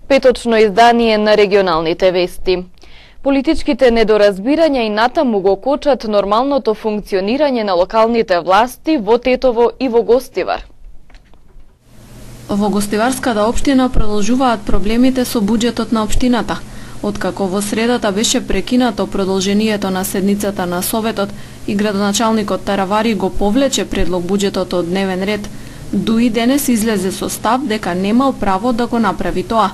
Петочно издание на регионалните вести. Политичките недоразбирања и натаму го кочат нормалното функционирање на локалните власти во Тетово и во Гостивар. Во Гостиварската општина продолжуваат проблемите со буџетот на општината. Откако во средата беше прекинато продолжението на седницата на Советот и градоначалникот Таравари го повлече предлог буџетот од дневен ред, ДУИ денес излезе со став дека немал право да го направи тоа.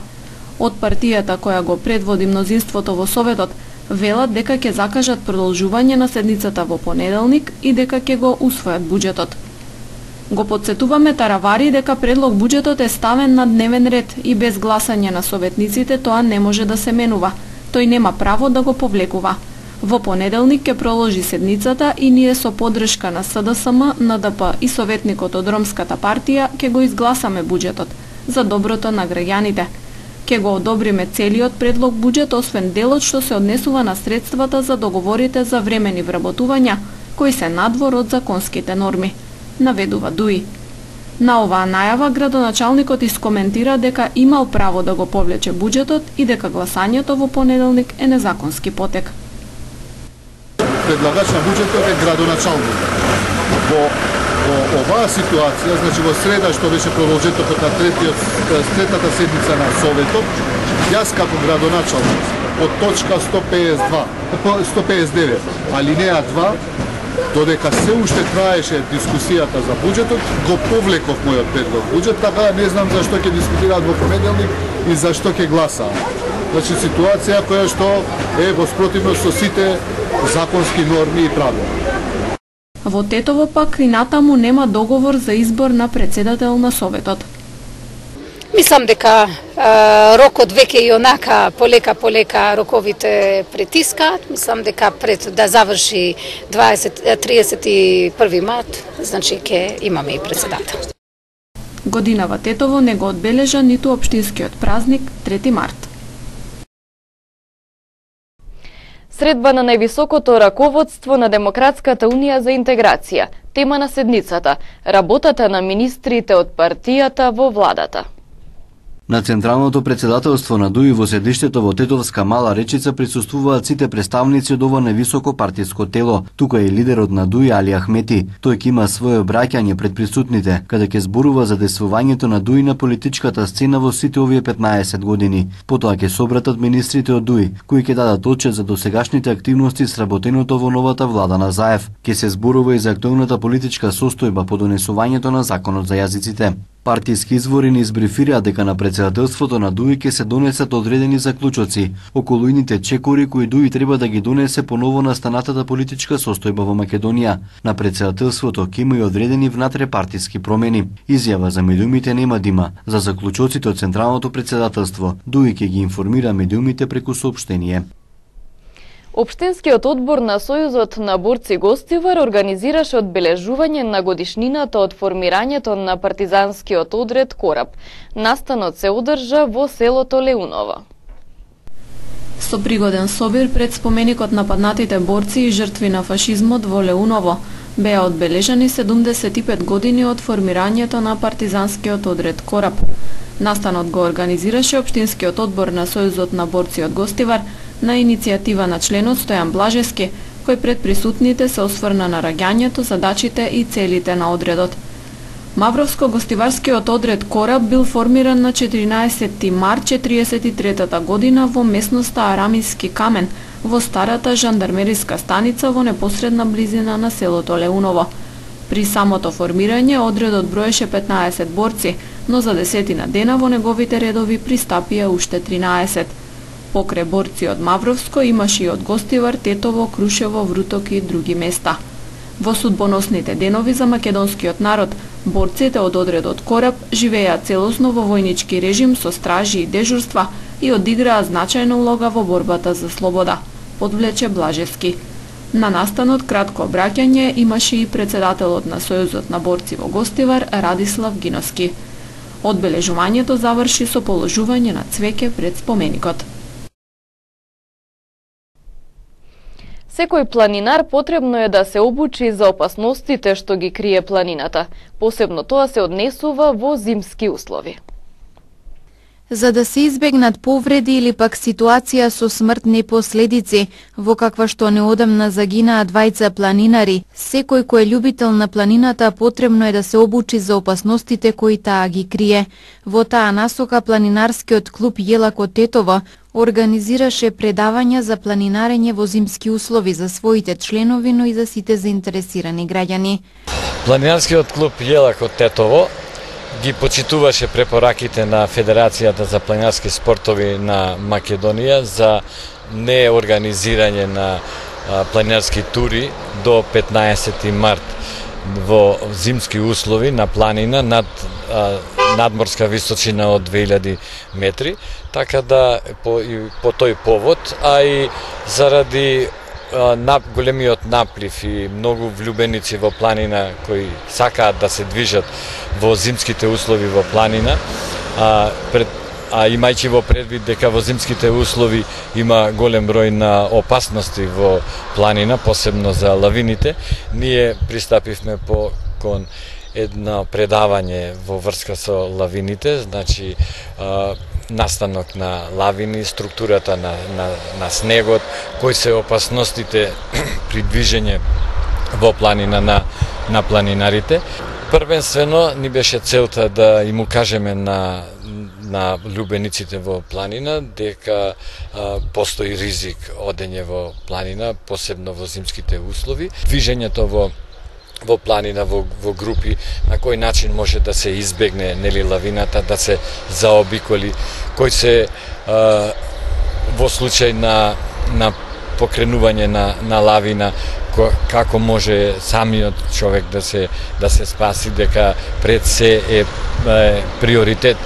Од партијата која го предводи мнозинството во Советот, велат дека ќе закажат продолжување на седницата во понеделник и дека ќе го усвојат буџетот. Го потсетуваме Таравари дека предлог буџетот е ставен на дневен ред и без гласање на советниците тоа не може да се менува. Тој нема право да го повлекува. Во понеделник ќе проложи седницата и ние со поддршка на СДСМ, НДП и советникот од Ромската партија ќе го изгласаме буџетот за доброто на граѓаните. Ќе го одобриме целиот предлог буџет, освен делот што се однесува на средствата за договорите за времени вработувања, кои се надвор од законските норми, наведува ДУИ. На оваа најава градоначалникот искоментира дека имал право да го повлече буџетот и дека гласањето во понеделник е незаконски потек. Предлагач на буџетот е градоначалник. Во оваа ситуација, значи во среда што беше продолжетокот на третата седница на Советот, јас како градоначалник од точка 159, алинеја 2, додека се уште траеше дискусијата за буџетот, го повлеков мојот предлог буџет, така не знам зашто ќе дискутираат во понеделник и зашто ќе гласаат. Значи ситуација која што е во спротивност со сите законски норми и правила. Во Тетово пак и натаму нема договор за избор на председател на Советот. Мислам дека рокот веќе и онака полека роковите притискаат. Мислам дека пред да заврши 31 март, значи ќе имаме и председател. Годинава Тетово не го одбележа ниту општинскиот празник 3 март. Средба на највисокото раководство на Демократската унија за интеграција. Тема на седницата – работата на министрите од партијата во владата. На Централното председателство на ДУИ во седиштето во Тетовска Мала Речица присуствуваат сите представници од ова невисоко партиско тело. Тука е лидерот на ДУИ Али Ахмети. Тој ќе има свое обраќање пред присутните, каде ќе зборува за действувањето на ДУИ на политичката сцена во сите овие 15 години. Потоа ќе собратат министрите од ДУИ, кои ќе дадат отчет за досегашните активности сработеното во новата влада на Заев. Ќе се зборува и за актуелната политичка состојба по донесувањето на законот за јазиците. Партиски извори ни избрифираат дека на председателството на ДУИ ќе се донесат одредени заклучоци околу ините чекори кои ДУИ треба да ги донесе по ново настанатата политичка состојба во Македонија. На председателството ќе има и одредени внатрепартиски промени. Изјава за медиумите нема да има. За заклучоците од Централното председателство ДУИ ќе ги информира медиумите преку соопштение. Општинскиот одбор на Сојузот на борци Гостивар организираше одбележување на годишнината од формирањето на партизанскиот одред Кораб. Настанот се одржа во селото Леуново. Со пригоден собир пред споменикот на паднатите борци и жртви на фашизмот во Леуново беа одбележани 75 години од формирањето на партизанскиот одред Кораб. Настанот го организираше Општинскиот одбор на Сојузот на борци од Гостивар на иницијатива на членот Стојан Блажевски, кој пред присутните се осврна на раѓањето, задачите и целите на одредот. Мавровско-гостиварскиот одред Кораб бил формиран на 14 март 1943 година во местноста Арамиски камен, во старата жандармериска станица во непосредна близина на селото Леуново. При самото формирање одредот броеше 15 борци, но за 10 дена во неговите редови пристапија уште 13. Покрај борци од Мавровско имаше и од Гостивар, Тетово, Крушево, Вруток и други места. Во судбоносните денови за македонскиот народ, борците од одредот Кораб живееа целосно во војнички режим со стражи и дежурства и одиграа значајна улога во борбата за слобода, подвлече Блажевски. На настанот кратко обраќање имаше и председателот на Сојузот на борци во Гостивар Радислав Гиновски. Одбележувањето заврши со положување на цвеќе пред споменикот. Секој планинар потребно е да се обучи за опасностите што ги крие планината. Посебно тоа се однесува во зимски услови. За да се избегнат повреди или пак ситуација со смртни последици, во каква што неодамна загинаа двајца планинари, секој кој е љубител на планината потребно е да се обучи за опасностите кои таа ги крие. Во таа насока планинарскиот клуб Јелак од Тетово организираше предавања за планинарење во зимски услови за своите членови, но и за сите заинтересирани граѓани. Планинарскиот клуб Јелак од Тетово ги почитуваше препораките на Федерацијата за планинарски спортови на Македонија за неорганизирање на планинарски тури до 15 март во зимски услови на планина над надморска височина од 2000 метри, така да по тој повод, а и заради големиот наплив и многу влюбеници во планина кои сакаат да се движат во зимските услови во планина, имајќи во предвид дека во зимските услови има голем број на опасности во планина, посебно за лавините, ние пристапивме кон едно предавање во врска со лавините, значи настанок на лавини, структурата на снегот, кои се опасностите при движење во планина на планинарите. Првенствено ни беше целта да им укажеме на љубениците во планина дека постои ризик одење во планина, посебно во зимските услови. Движењето во планина, во групи, на кој начин може да се избегне лавината, да се заобиколи, кој се во случај на покренување на лавина, како може самиот човек да се спаси, дека пред се е приоритет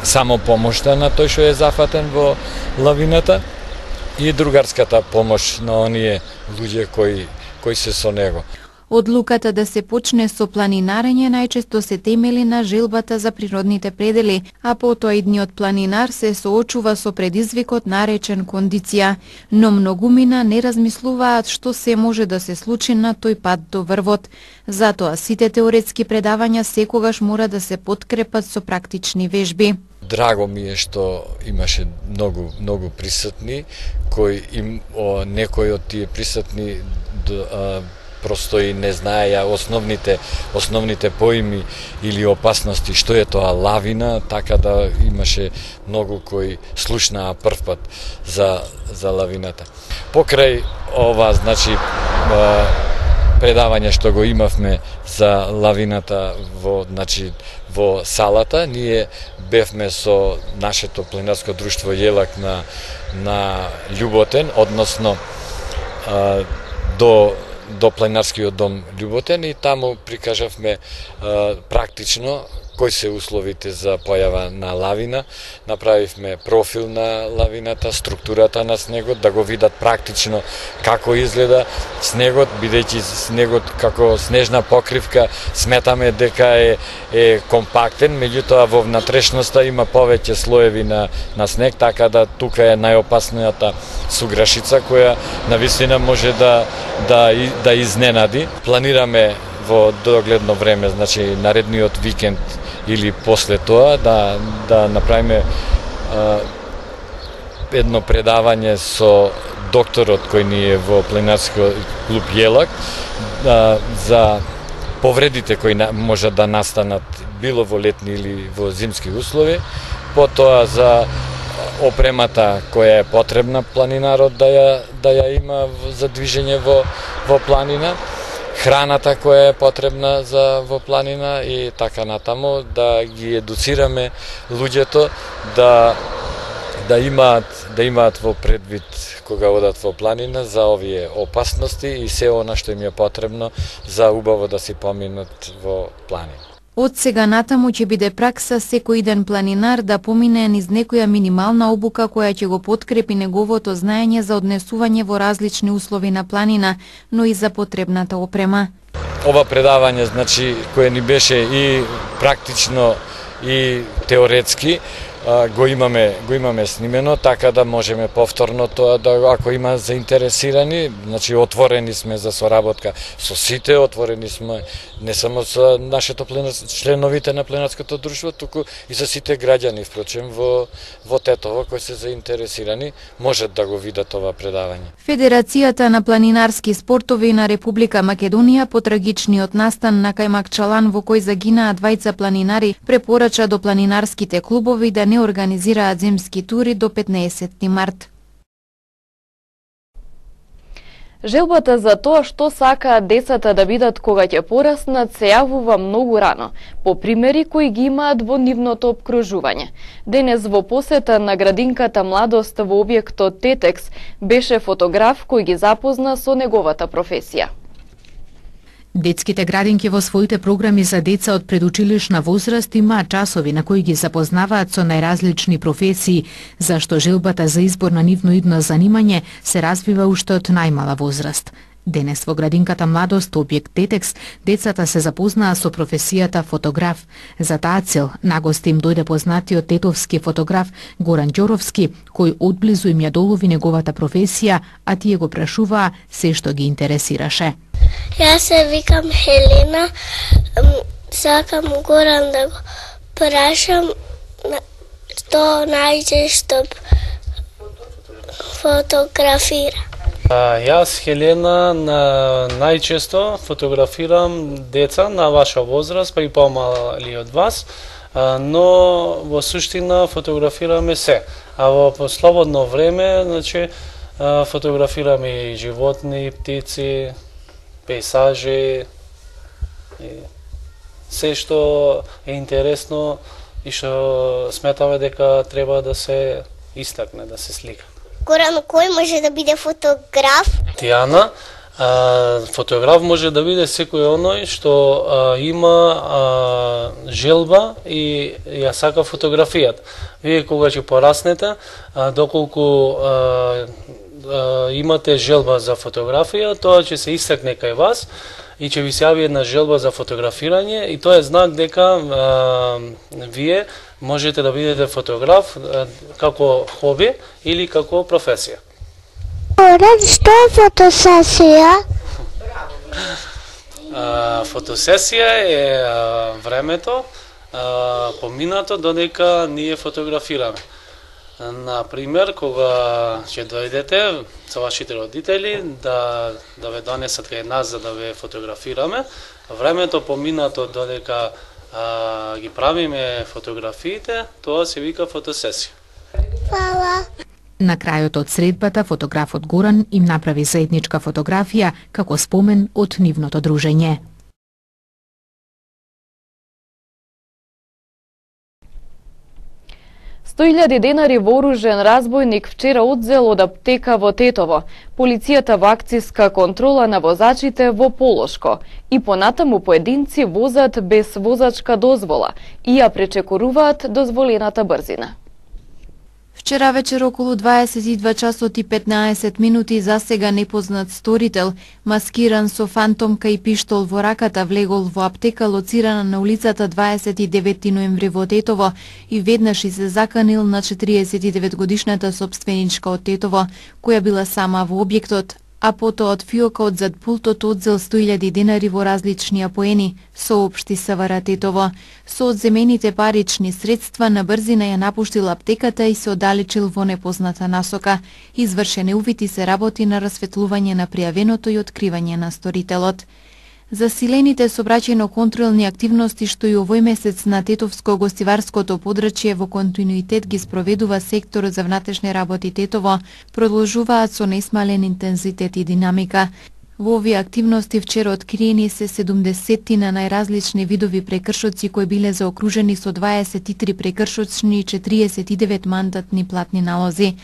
само помошта на тој што е зафатен во лавината и другарската помош на оние луѓе кои се со него. Одлуката да се почне со планинарење најчесто се темели на желбата за природните предели, а потоа идниот планинар се соочува со предизвикот наречен кондиција, но многумина не размислуваат што се може да се случи на тој пат до врвот. Затоа сите теоретски предавања секогаш мора да се подкрепат со практични вежби. Драго ми е што имаше многу присутни, некои од тие присутни просто и не знаеја основните поими или опасности, што е тоа лавина, така да имаше многу кои слушнаа првпат за лавината. Покрај ова, значи, предавање што го имавме за лавината во салата, ние бевме со нашето планинарско друштво Јелак на Љуботен, односно до планинарскиот дом Љуботен, и таму прикажавме практично кои се условите за појава на лавина. Направивме профил на лавината, структурата на снегот, да го видат практично како изгледа снегот, бидејќи снегот како снежна покривка сметаме дека е компактен, меѓутоа во внатрешноста има повеќе слоеви на снег, така да тука е најопасната суграшица која навистина може да изненади. Планираме во догледно време, значи наредниот викенд или после тоа да направиме едно предавање со докторот кој ни е во планинарскиот клуб Јелак за повредите кои може да настанат било во летни или во зимски услови, потоа за опремата која е потребна планинарот да ја има за движење во планина, храната која е потребна во планина и така натаму, да ги едуцираме луѓето да имаат во предвид кога одат во планина за овие опасности и се она што им е потребно за убаво да си поминат во планина. Од сега натаму ќе биде пракса секој ден планинар да помине низ некоја минимална обука која ќе го подкрепи неговото знаење за однесување во различни услови на планина, но и за потребната опрема. Ова предавање, значи, кое ни беше и практично и теоретски, го имаме снимено, така да можеме повторно тоа да, ако има заинтересирани, значи отворени сме за соработка со сите, отворени сме не само со нашето членовите на пленарското друштво, туку и за сите граѓани, впрочем во Тетово кои се заинтересирани, можат да го видат ова предавање. Федерацијата на планинарски спортови на Република Македонија по трагичниот настан на Кајмакчалан во кој загинаа двајца планинари препорача до планинарските клубови да не организираат земски тури до 15 март. Желбата за тоа што сакаат децата да бидат кога ќе пораснат се јавува многу рано, по примери кои ги имаат во нивното опкружување. Денес во посета на градинката Младост во објектот Тетекс беше фотограф кој ги запозна со неговата професија. Детските градинки во своите програми за деца од предучилишна возраст имаат часови на кои ги запознаваат со најразлични професии, зашто желбата за избор на нивно идно занимање се развива уште од најмала возраст. Денес во градинката Младост, објект Тетекс, децата се запознаа со професијата фотограф. За таа цел, нагости им дојде познатиот тетовски фотограф Горан Ѓоровски, кој одблизу им ја долови неговата професија, а тие го прашуваа се што ги интересираше. Јас се викам Хелена, сакам Горан да го прашам што најчесто фотографира. Јас, Хелена, најчесто фотографирам деца на ваша возраст, па и помали од вас, но во суштина фотографираме се. А во слободно време, значи, фотографираме и животни, птици, пейсажи, се што е интересно и што сметаме дека треба да се истакне, да се слика. Горан, кој може да биде фотограф? Тијана, фотограф може да биде секој оној што има желба и ја сака фотографијата. Вие кога ќе пораснете, доколку имате желба за фотографија, тоа ќе се истакне кај вас и ќе ви се јави една желба за фотографирање и тоа е знак дека вие можете да бидете фотограф како хоби или како професија. Горан, што е фотосесија? Фотосесија е времето поминато додека ние фотографираме. Например, кога ќе дојдете со вашите родители да ве донесат кај нас за да ве фотографираме, времето поминато додека ги правиме фотографиите, тоа се вика фотосесија. Фала. На крајот од средбата, фотографот Горан им направи заедничка фотографија како спомен од нивното дружење. $100,000 вооружен разбойник вчера одзел од аптека во Тетово, полицијата во акцијска контрола на возачите во Полошко и понатаму поединци возат без возачка дозвола и ја пречекоруваат дозволената брзина. Вчера вечер околу 22 часот и 15 минути засега непознат сторител, маскиран со фантомка и пиштол во раката, влегол во аптека лоцирана на улицата 29 ноември во Тетово и веднаш и се заканил на 49 годишната собственичка од Тетово, која била сама во објектот, а потоа од фиокот зад пултот одзел $100,000 во различни апоени, соопшти СВР Тетово. Со одземените парични средства на брзина ја напуштил аптеката и се оддалечил во непозната насока. Извршен е увид и се работи на расветлување на пријавеното и откривање на сторителот. Засилените сообраќајно-контролни активности што и овој месец на Тетовско-гостиварското подрачје во континуитет ги спроведува секторот за внатрешни работи Тетово, продолжуваат со несмален интензитет и динамика. Во овие активности вчера откриени се 70 на најразлични видови прекршоци кои биле заокружени со 23 прекршочни и 49 мандатни платни налози.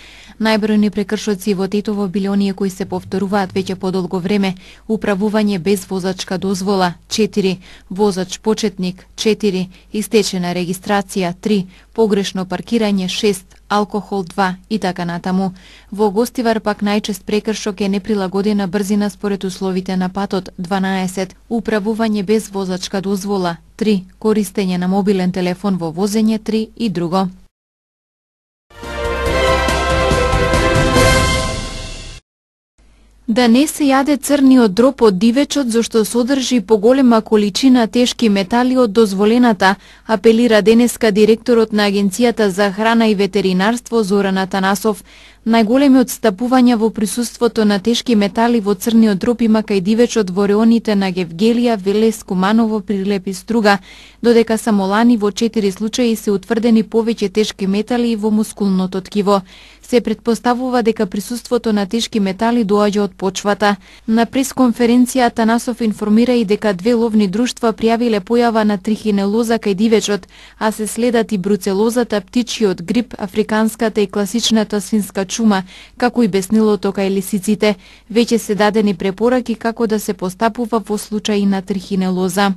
Најбројни прекршоци во Тетово биле оние кои се повторуваат веќе подолго време: управување без возачка дозвола 4, возач почетник 4, истечена регистрација 3, погрешно паркирање 6, алкохол 2 и така натаму. Во Гостивар пак најчест прекршок е неприлагодена брзина според условите на патот 12, управување без возачка дозвола 3, користење на мобилен телефон во возење 3 и друго. Да не се јаде црниот дроб од дивечот зашто содржи поголема количина тешки метали од дозволената, апелира денеска директорот на Агенцијата за храна и ветеринарство Зоран Атанасов. Најголеми отстапувања во присуството на тешки метали во црниот дроб има кај дивечот во реоните на Гевгелија, Велес, Куманово, Прилеп и Струга, додека само лани во 4 случаи се утврдени повеќе тешки метали во мускулното ткиво. Се претпоставува дека присуството на тешки метали доаѓа од почвата. На пресконференција Атанасов информира и дека 2 ловни друштва пријавиле појава на трихинелоза кај дивечот, а се следат и бруцелозата, птичиот грип, африканската и класичната свинска чума, како и беснилото кај лисиците. Веќе се дадени препораки како да се постапува во случаи на трихинелоза.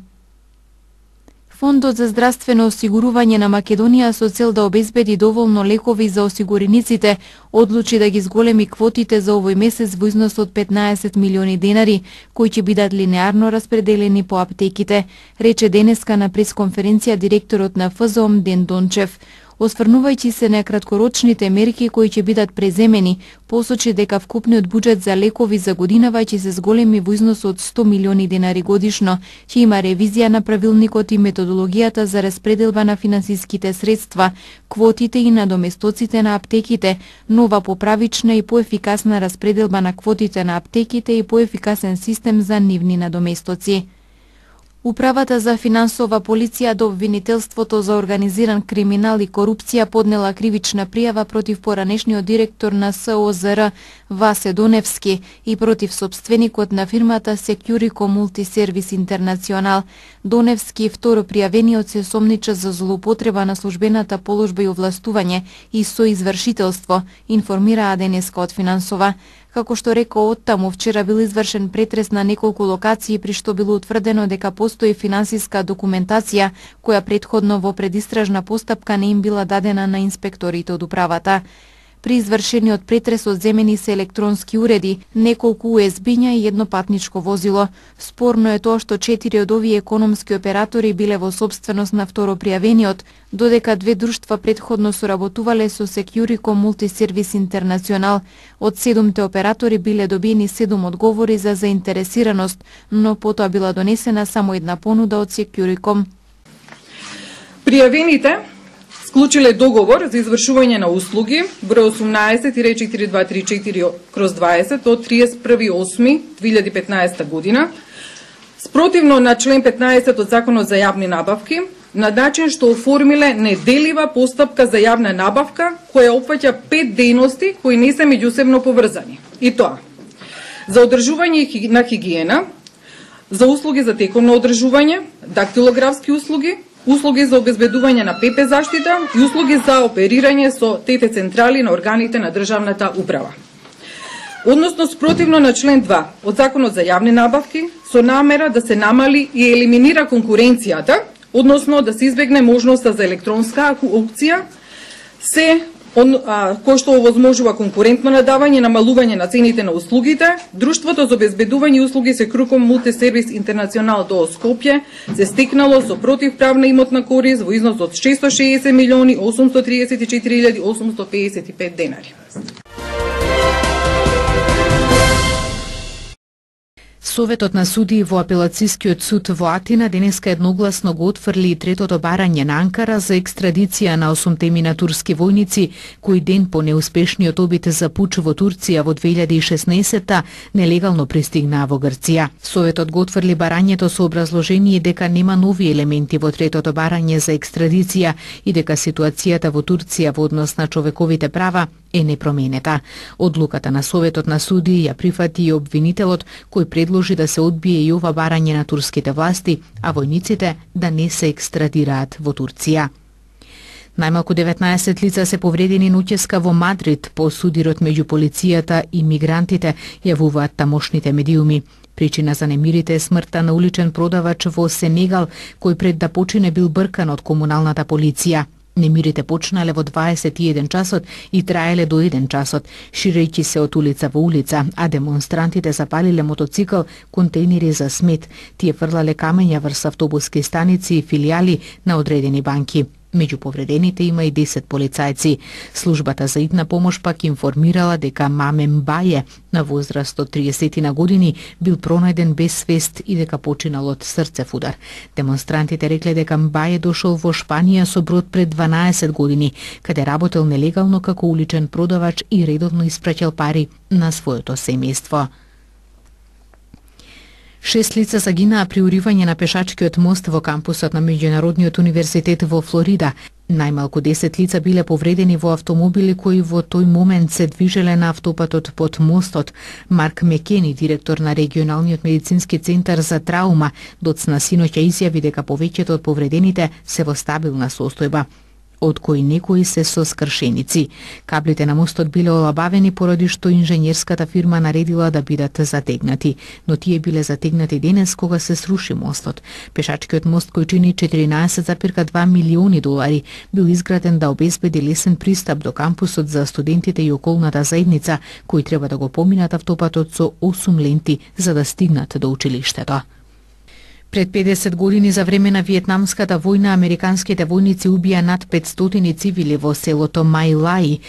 Фондот за здравствено осигурување на Македонија со цел да обезбеди доволно лекови за осигурениците, одлучи да ги зголеми квотите за овој месец во износ од 15 милиони денари, кои ќе бидат линеарно распределени по аптеките, рече денеска на пресконференција директорот на ФЗОМ Ден Дончев. Осврнувајќи се на краткорочните мерки кои ќе бидат преземени, посочи дека вкупниот буџет за лекови за годинава ќе се зголеми во износ од 100 милиони денари годишно, ќе има ревизија на правилникот и методологијата за распределба на финансиските средства, квотите и надоместоците на аптеките, нова поправична и поефикасна распределба на квотите на аптеките и поефикасен систем за нивни надоместоци. Управата за финансова полиција до обвинителството за организиран криминал и корупција поднела кривична пријава против поранешниот директор на СОЗР Васе Доневски и против собственикот на фирмата Securico Multiservice International. Доневски, второ пријавениот, се сомнича за злоупотреба на службената положба и овластување и соизвршителство, информираа денеска од Финансова. Како што рекол оттаму, вчера бил извршен претрес на неколку локации при што било утврдено дека постои финансиска документација која претходно во предистражна постапка не им била дадена на инспекторите од управата. При извршениот претрес одземени се електронски уреди, неколку USB-ња и едно патничко возило. Спорно е тоа што 4 од овие економски оператори биле во собственост на второ пријавениот, додека 2 друштва претходно соработувале со Securico Multiservice International. Од 7 оператори биле добиени 7 одговори за заинтересираност, но потоа била донесена само една понуда од Securico. Пријавените склучиле договор за извршување на услуги број 18-4234/20 од 31.8.2015 година, спротивно на член 15 од Законот за јавни набавки, на начин што оформиле неделива постапка за јавна набавка која опфаќа 5 дејности кои не се меѓусебно поврзани. И тоа: за одржување на хигиена, за услуги за теконо одржување, дактилографски услуги, услуги за обезбедување на ПП заштита и услуги за оперирање со ТТ централи на органите на државната управа. Односно спротивно на член 2 од Законот за јавни набавки, со намера да се намали и елиминира конкуренцијата, односно да се избегне можноста за електронска аукција, кој што овозможува конкурентно надавање и намалување на цените на услугите, Друштвото за обезбедување услуги Securico Multiservice International до Скопје се стекнало со противправна имотна корис во износ од 660.834.855 денари. Советот на судии во апелацискиот суд во Атина денеска едногласно го отфрли и третото барање на Анкара за екстрадиција на 8 мина турски војници, кои ден по неуспешниот обид за пуч во Турција во 2016-та нелегално пристигнаа во Грција. Советот го отфрли барањето со образложение дека нема нови елементи во третото барање за екстрадиција и дека ситуацијата во Турција во однос на човековите права е непроменета. Одлуката на Советот на судии ја прифати и обвинителот, кој предложи да се одбие и ова барање на турските власти, а војниците да не се екстрадираат во Турција. Најмалку 19 лица се повредени ноќеска во Мадрид по судирот меѓу полицијата и мигрантите, јавуваат тамошните медиуми. Причина за немирите е смртта на уличен продавач во Сенегал, кој пред да почине бил бркан од комуналната полиција. Немирите почнале во 21 часот и траеле до 1 часот, ширејќи се од улица во улица, а демонстрантите запалиле мотоцикл, контейнери за смет. Тие фрлале камења врз автобуски станици и филијали на одредени банки. Меѓу повредените има и 10 полицајци. Службата за итна помош пак информирала дека Маме Мбаје, на возраст од 30 на години, бил пронајден без свест и дека починал од срцев удар. Демонстрантите рекле дека Мбаје дошол во Шпанија со брод пред 12 години, каде работел нелегално како уличен продавач и редовно испраќал пари на своето семејство. 6 лица загинаа при уривање на пешачкиот мост во кампусот на Меѓународниот универзитет во Флорида. Најмалку 10 лица биле повредени во автомобили кои во тој момент се движеле на автопатот под мостот. Марк Мекени, директор на регионалниот медицински центар за траума, доцна синоќа изјави дека повеќето од повредените се во стабилна состојба, од кои некои се со скршеници. Каблите на мостот биле олабавени поради што инженерската фирма наредила да бидат затегнати, но тие биле затегнати денес кога се сруши мостот. Пешачкиот мост кој чини 14,2 милиони долари бил изграден да обезбеди лесен пристап до кампусот за студентите и околната заедница кои треба да го поминат автопатот со 8 ленти за да стигнат до училиштето. Пред 50 години за време на Виетнамската војна американските војници убија над 500 цивили во селото Мај Лаи.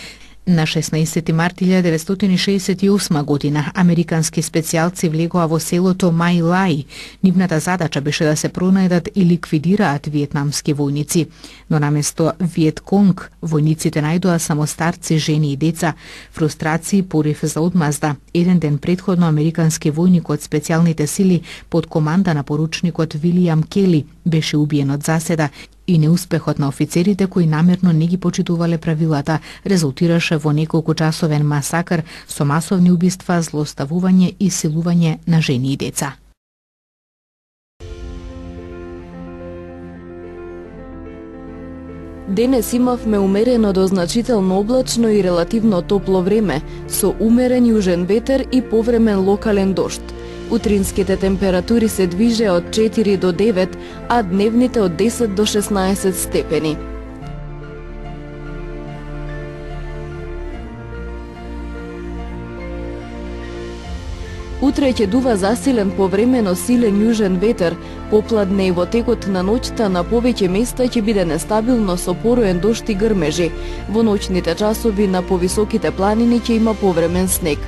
На 16 март 1968 година американски специјалци влегоа во селото Мај Лаи. Нивната задача беше да се пронајдат и ликвидираат виетнамски војници, но наместо Виетконг, војниците најдоа само старци, жени и деца. Фрустрација и порив за одмазда. Еден ден претходно американски војник од специјалните сили под команда на поручникот Вилијам Кели беше убиен од заседа и неуспехот на офицерите кои намерно не ги почитувале правилата резултираше во неколку часовен масакр со масовни убиства, злоставување и силување на жени и деца. Денес имавме умерено до значително облачно и релативно топло време, со умерен јужен ветер и повремен локален дожд. Утринските температури се движеа од 4 до 9, а дневните од 10 до 16 степени. Утре ќе дува засилен повремено силен јужен ветер, попладне и во текот на ноќта на повеќе места ќе биде нестабилно со пороен дожд и грмежи. Во ноќните часови на повисоките планини ќе има повремен снег.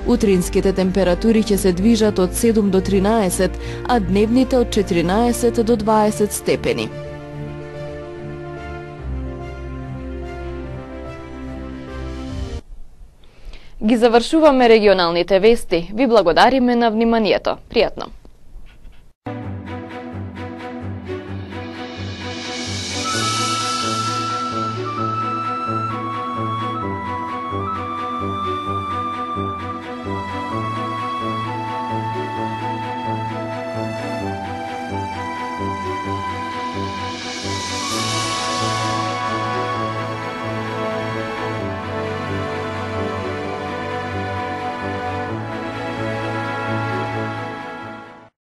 Утринските температури ќе се движат од 7 до 13, а дневните од 14 до 20 степени. Ги завршуваме регионалните вести. Ви благодариме на вниманието. Пријатно!